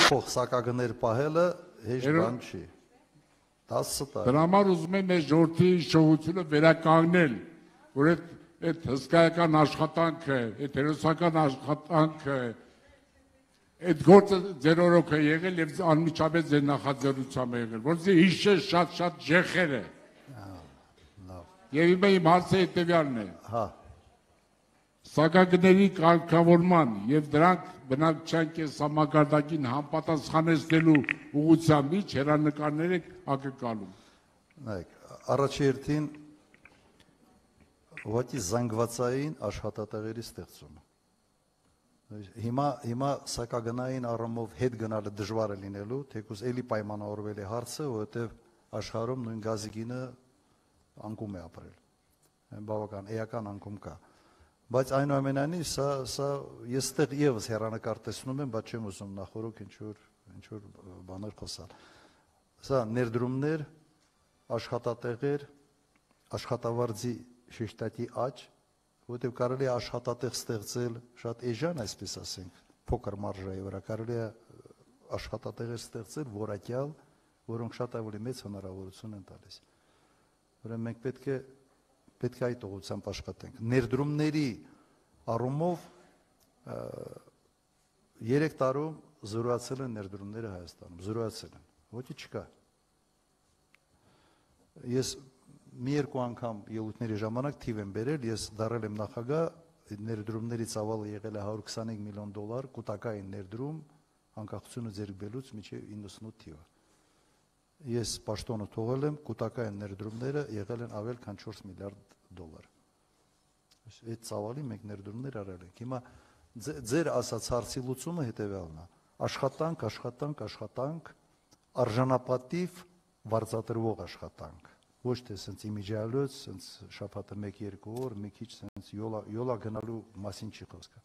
փող սակագներ պահելը հեշտ բան չի։ 10 տարի։ Դրա համար ուզում եմ այս ժողովրդի շողությունը վերականգնել, որ այդ հսկայական աշխատանքը, այդ հերոսական աշխատանքը, այդ գործը ձեր օրոք է եղել եւ անմիջապես ձեր նախաձեռնությամբ է եղել, որովհետեւ հիշել շատ ջեխեր է։ Եվ իմ հարցը հետեւյալն է։ Հա։ Սակագների կարգավորման եւ դրանք բնակչության կենսամակարդակին համապատասխանեցնելու ուղղությամբ ինչ հերանեկարներ եք ակնկալում։ Նայեք, առաջերտին ուղղակի զանգվածային աշխատատեղերի ստեղծումը։ Հիմա սակագնային առումով հետ գնալը դժվար է լինելու, թեկուզ էլի պայմանավորվել է հարցը, որովհետեւ աշխարհում նույն գազի գինը անկում է ապրել։ Բավական էական անկում կա։ Բայց այնուամենայնիվ սա ես ստեղ եւս հերանեկար տեսնում եմ, բայց չեմ ուզում նախորոք ինչ որ բաներ խոսալ։ Սա ներդրումներ, աշխատատեղեր, աշխատավարձի շեշտակի աճ, որտեղ կարելի է աշխատատեղ ստեղծել շատ էժան, այսպես ասենք, փոքր մարժայի վրա կարելի է աշխատատեղեր ստեղծել որակյալ, որոնք շատ ավելի մեծ հնարավորություն են տալիս։ Ուրեմն մենք պետք է այդ ուղղությամբ աշխատենք։ Ներդրումների առումով 3 տարում զրոացել են ներդրումները Հայաստանում, զրոացել են, ոչինչ չկա։ Ես մի երկու անգամ ելույթների ժամանակ թիվ եմ բերել, ես դարել եմ նախագահ, ներդրումների ծավալը եղել է $125 միլիոն, կուտակային ներդրում, անկախությունը ձեռք բերելուց մինչև 98 թիվը։ Ես պաշտոնը թողել եմ, կուտակային ներդրումները եղել են ավել քան $4 միլիարդ։ Այդ ծավալի մենք ներդրումներ արել ենք։ Հիմա ձեր ասած հարցի լուծումը հետևյալն է. աշխատանք, արժանապատիվ վարձատրվող աշխատանք։ Ոչ թե սենց իմիջիալոց, սենց շաբաթը 1-2 օր, մի քիչ սենց յոլա գնալու մասին չի խոսքը։